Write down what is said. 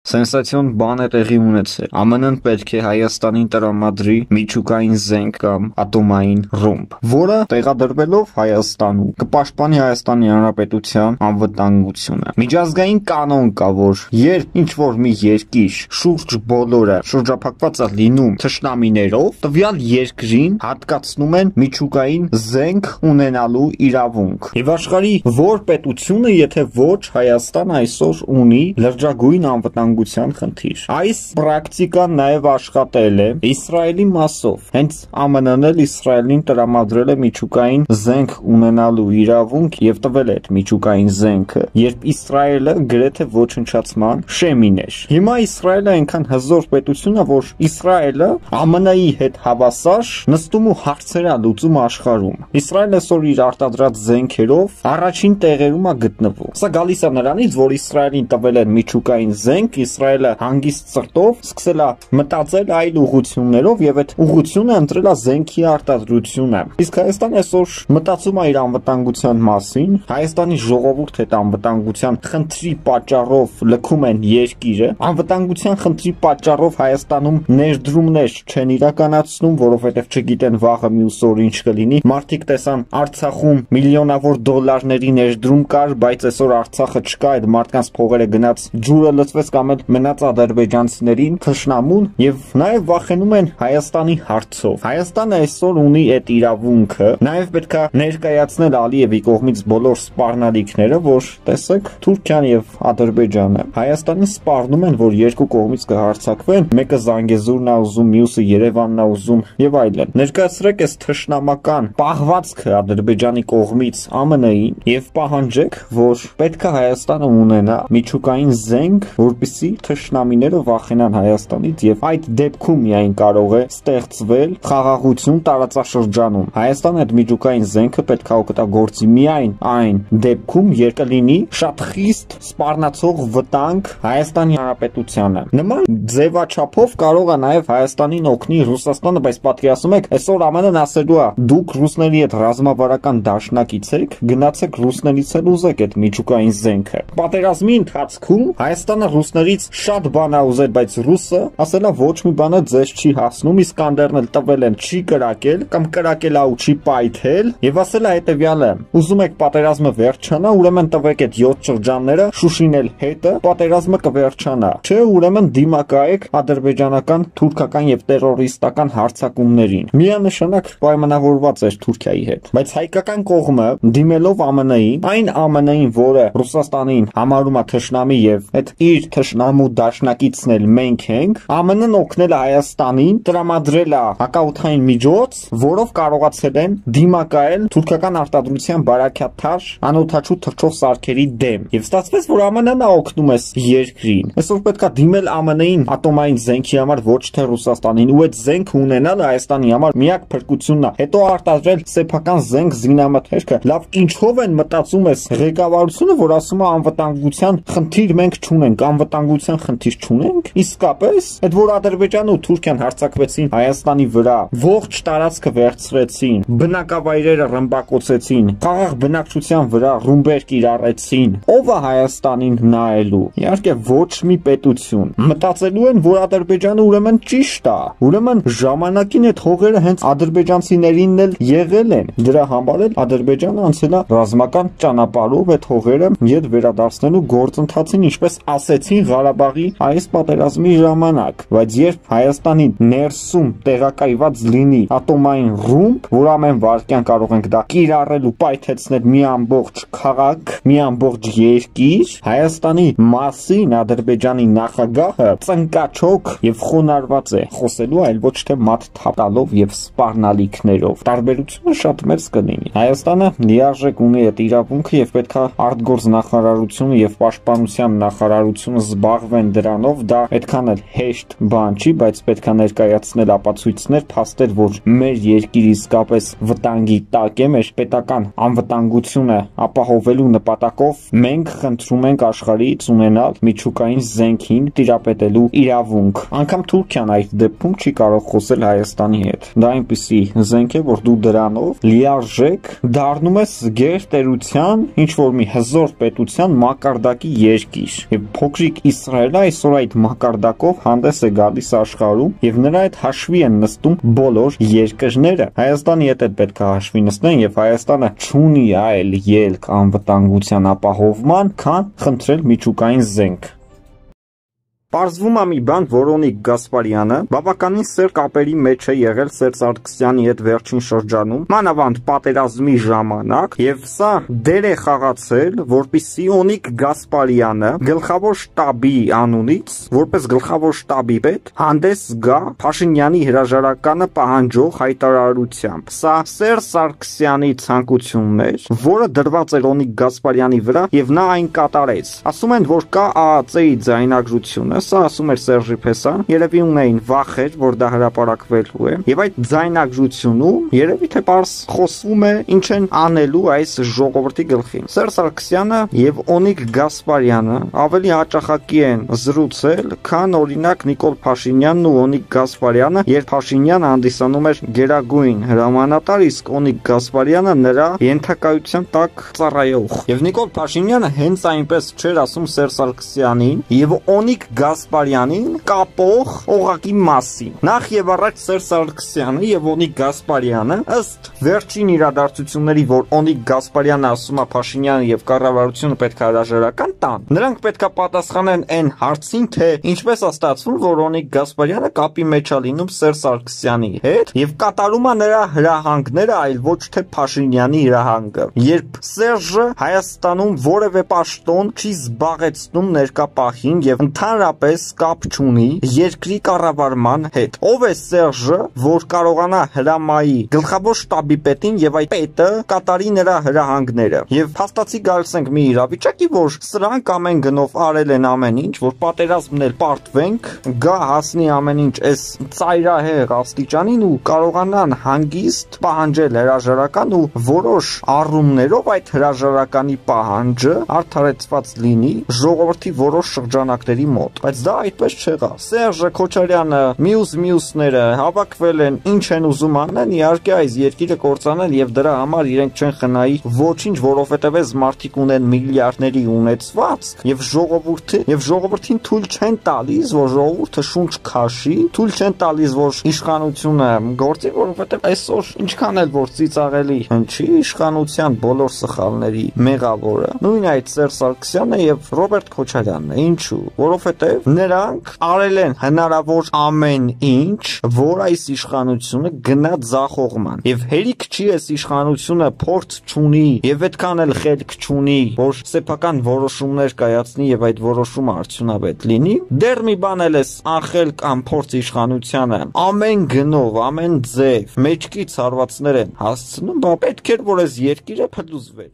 Սենսացիոն բան է տեղի ունեցել։ ԱՄՆ-ն պետք է Հայաստանին տրամադրի միջուկային զենք կամ ատոմային ռումբ, որը տեղադրվելով Հայաստանում կպաշտպանի Հայաստանի Հանրապետության անվտանգությունը։ Միջազգային կանոն կա, որ երբ ինչ-որ մի երկիր շուրջ բոլորը շրջափակված է լինում թշնամիներով, տվյալ երկրին հատկացնում են միջուկային զենք ունենալու իրավունք։ Եվ աշխարհի որ պետությունը, եթե ոչ Հայաստան այսօր ունի լրջագույն անվտանգության խնդիր։ Այս պրակտիկան նաև աշխատել է Իսրայելի մասով։ Հենց ԱՄՆ-ն էլ Իսրայելին տրամադրել է միջուկային զենք ունենալու իրավունք եւ տվել է այդ միջուկային զենքը, երբ Իսրայելը գրեթե ոչնչացման շեմին էր։ Հիմա Իսրայելը այնքան հզոր պետություն է, որ Իսրայելը ԱՄՆ-ի հետ հավասար նստում ու հարցեր է լուծում աշխարհում։ Իսրայելը այսօր իր արտադրած զենքերով առաջին տեղերում է գտնվում։ Սա գալիս է նրանից, որ Իսրայելին տվել են միջուկային զենք, Իսրայելը հանգիստ սրտով սկսել է մտածել այլ ուղղություններով եւ այդ ուղղությունը ընտրել է զենքի արտադրությունը։ Իսկ Հայաստանը այսօր մտածում է իր անվտանգության մասին, Հայաստանի ժողովուրդը այդ անվտանգության խնդրի պատճառով լքում են երկիրը, անվտանգության խնդրի պատճառով Հայաստանում ներդրումներ չեն իրականացնում, որովհետեւ չգիտեն վաղը մյուս օր ինչ կլինի։ Մարդիկ տեսան Արցախում միլիոնավոր դոլարների ներդրում կար, բայց այսօր Արցախը չկա, այդ մարդկանց փողերը գնաց, ջուրը լցվեց կամ էլ մնաց ադրբեջանցիներին թշնամուն եւ նաեւ վախենում են Հայաստանի հարցով։ Հայաստանը այսօր ունի այդ իրավունքը, նաեւ պետքա ներկայացնել Ալիևի կողմից բոլոր սպառնալիքները, որ տեսեք Թուրքիան եւ Ադրբեջանը Հայաստանին սպառնում են, որ երկու կողմից կհարձակվեն, մեկը Զանգեզուրն է ուզում, մյուսը Երևանն է ուզում եւ այլն։ Ներկայացրեք այս թշնամական պահվածքը Ադրբեջանի կողմից ԱՄՆ-ին եւ պահանջեք, որ պետքա Հայաստանը ունենա միջուկային զենք, որպեսզի թշնամիները վախենան Հայաստանից եւ այդ դեպքում միայն կարող է ստեղծվել խաղաղություն տարածաշրջանում։ Հայաստանը այդ միջուկային զենքը պետք է օգտագործի միայն այն դեպքում, երբ կլինի շատ խիստ սպառնացող վտանգ Հայաստանի Հանրապետությանը։ Նման ձևաչափով կարող է նաեւ Հայաստանին օգնի Ռուսաստանը, բայց պատկերացնում եք, այսօր ԱՄՆ-ն ասելու է՝ դուք ռուսների հետ ռազմավարական դաշնակից եք, գնացեք ռուսներից էլ ուզեք այդ միջուկային զենքը։ Պատերազմի ընթացքում Հայաստանը ռուսներից շատ բան է ուզել, բայց ռուսը ասել է ոչ մի բանը ձեզ չի հասնում, Իսկանդերն էլ տվել են չի կրակել կամ կրակել է ու չի պայթել եւ ասել է հետեւյալը. ուզում եք պատերազմը վերջանա, ուրեմն տվեք այդ 7 շրջանները, Շուշին էլ հետը, պատերազմը կվերջանա։ Չէ, ուրեմն դիմակայեք ադրբեջանական, թուրքական եւ տերորիստական հարձակումներին։ Միանշանակ պայմանավորված էր Թուրքիայի հետ, բայց հայկական կողմը դիմելով ԱՄՆ-ին, այն ԱՄՆ-ին, որը Ռուսաստանին համարում է թշնամի եւ այդ իր թշնամու դաշնակիցն էլ մենք ենք, ԱՄՆ-ն օգնել է Հայաստանին, տրամադրել է հակաօդային միջոց, որով կարողացել են դիմակայել թուրքական արտադրության բարակյաթար անօդաչու թռչող սարքերի դեմ։ Եվ ստացվեց, որ ԱՄՆ-ն է օգնում է երկրին։ Այսօր պետքա դիմել ԱՄՆ-ին ատոմային զենքի համար, ոչ թե Ռուսաստանին, ու այդ զենքը ունենալը Հայաստանի համար միակ փրկությունն է։ Հետո արտադրել սեփական զենք զինամթերքը։ Լավ, ինչով են մտածում ես ղեկավարությունը, որ ասում է անվտանգության խնդիր մենք չունենք, անվտանգության խնդիր չունենք։ Իսկապես, այդ որ Ադրբեջանը ու Թուրքիան հարձակվեցին Հայաստանի վրա, ողջ տարածքը վերցրեցին, բնակավայրերը ռմբակոծեցին, խաղաղ բնակչության վրա ռումբեր կիրառեցին, ով է Հայաստանին նայելու։ Իհարկե ոչ մի պետություն։ Մտածելու են, որ Ադրբեջանը ուրեմն ճիշտ է, ուրեմն ժամանակին այդ հողերը հենց ադրբեջանցիներինն էլ եղել են։ Դրա համար էլ Ադրբեջանը անցել է ռազմական ճանապարհով այդ հողերը ետ վերադարձնելու գործընթացին, ինչպես ասեցին Ղարաբաղի այս պատերազմի ժամանակ։ Բայց երբ Հայաստանի ներսում տեղակայված լինի ատոմային ռումբ, որ ամեն վայրկյան կարող ենք դա կիրառել ու պայթեցնել մի ամբողջ քաղաք, մի ամբողջ երկիր, Հայաստանի մասին Ադրբեջանի նախագահը ծնկաչոք եւ խոնարհված է խոսելու, այլ ոչ թե մատ թափալով եւ սպառնալիքներով։ Տարբերությունը շատ մեծ կլինի։ Հայաստանը լիարժեք ունի այդ իրավունքը եւ պետքա արտգործնախարարությունը եւ պաշտպանության նախարարությունը զբաղվեն դրանով, դա այդքան էլ հեշտ բան չի, բայց պետքա ներկայացնել ապացույցներ, փաստեր, որ մեր երկիրը իսկապես վտանգի տակ է, մեր պետական անվտանգությունը ապահովելու նպատակով մենք խնդրում ենք աշխարհից ունենալ միջուկային զենքին տիրապետելու իրավունք։ Անկամ Թուրքիան այդ դեպքում չի կարող խոսել Հայաստանի հետ։ Դա այնպիսի զենք է, որ դու դրանով լիարժեք դառնում ես գերտերության ինչ որ մի հզոր պետության մակարդակի երկիր։ Եվ փոքրիկ Իսրայելը այսօր այդ մակարդակով հանդես է գալիս աշխարհում եւ նրա հետ հաշվի են նստում բոլոր երկրները։ Հայաստանի հետ պետք է հաշվի նստեն եւ Հայաստանը չունի այլ ելք անվտանգության ապահովման, քան խնդրել միջուկային զենք։ Պարզվում է մի բան, որ Օնիկ Գասպարյանը բավականին սեր կապերի մեջ է եղել Սերժ Սարգսյանի հետ վերջին շրջանում, մանավանդ պատերազմի ժամանակ, եւ սա դեր է խաղացել, որպեսզի Օնիկ Գասպարյանը գլխավոր շտաբի անունից, որպես գլխավոր շտաբի պետ, հանդես գա Փաշինյանի հրաժարականը պահանջող հայտարարությամբ։ Սա Սերժ Սարգսյանի ցանկությունն էր, որը դրված էր Օնիկ Գասպարյանի վրա, եւ նա այն կատարեց։ Ասում են, որ կա ԱԱԾ-ի ձայնագրությունը։ Սա ասում էր Սերժի Փեսան, երևի ունեին վախեր, որ դա հրապարակվելու է, եւ այդ ձայնագրությունում երևի թե պարզ խոսվում է ինչ են անելու այս ժողովրդի գլխին։ Սերժ Սարգսյանը եւ Օնիկ Գասպարյանը ավելի հաճախակի են զրուցել, քան օրինակ Նիկոլ Փաշինյանն ու Օնիկ Գասպարյանը, երբ Փաշինյանը հանդիսանում էր գերագույն հրամանատար, իսկ Օնիկ Գասպարյանը նրա ենթակայության տակ ծառայող։ Եվ Նիկոլ Փաշինյանը հենց այնպես չէր ասում Սերժ Սարգսյանին եւ Օնիկ Գասպարյանին կապող օղակի մասին։ Նախ եւ առաջ Սերժ Սարգսյանը եւ Օնիկ Գասպարյանը ըստ վերջին իրադարձությունների, որ Օնիկ Գասպարյանը ասում է Փաշինյանը եւ կառավարությունը պետք է հրաժարական տան, նրանք պետք է պատասխանեն այն հարցին, թե ինչպես է ստացվում, որ Օնիկ Գասպարյանը կապի մեջ է լինում Սերժ Սարգսյանի հետ եւ կատարում է նրա հրահանգները, այլ ոչ թե Փաշինյանի հրահանգը։ Երբ Սերժը Հայաստանում որևէ պաշտոն չի զբաղեցնում ներկա պահին եւ ընդհանրապես կապ չունի երկրի կառավարման հետ։ Ով է Սերժը, որ կարողանա հրամայի գլխավոր շտաբի պետին եւ այդ պետը կատարի նրա հրահանգները։ Եվ փաստացի գալիս ենք մի իրավիճակի, որ սրանք ամեն գնով արել են ամեն ինչ, որ պատերազմն էլ պարտվենք, գա հասնի ամեն ինչ այս ծայրահեղ աստիճանին ու կարողանան հանգիստ պահանջել հրաժարական ու որոշ առումներով այդ հրաժարականի պահանջը արդարացված լինի ժողովրդի որոշ շրջանակների մոտ, բայց դա այդպես չեղավ։ Սերժը Քոչարյանը, մյուսները հավաքվել են, ինչ են ուզում անեն, իհարկե այս երկիրը կործանել եւ դրա համար իրենք չեն խնայի ոչինչ, որովհետեւ այս մարդիկ ունեն միլիարդների ունեցվածք եւ ժողովրդին թույլ չեն տալիս, որ ժողովուրդը շունչ քաշի, թույլ չեն տալիս, որ իշխանությունը գործի, որովհետեւ այսօր ինչքան էլ որ ծիծաղելի հնչի, իշխանության բոլոր սխալների մեղավորը նույն այդ Սերժ Սարգսյանը եւ Ռոբերտ Քոչարյանն է։ Ինչու՞։ Որովհետև նրանք արել են հնարավոր ամեն ինչ, որ այս իշխանությունը գնա ձախողման։ Եվ հերիք չի այս իշխանությունը փորձ չունի եւ այդքան էլ խելք չունի, որ սեփական որոշումներ կայացնի եւ այդ որոշումը արդյունավետ լինի։ Դեռ մի բան էլ էս անխելք կամ փորձ իշխանությանը ամեն գնով, ամեն ձև մեջքից հարվածներ են հասցնում, բա պետք էր որ այս երկիրը փլուզվեր։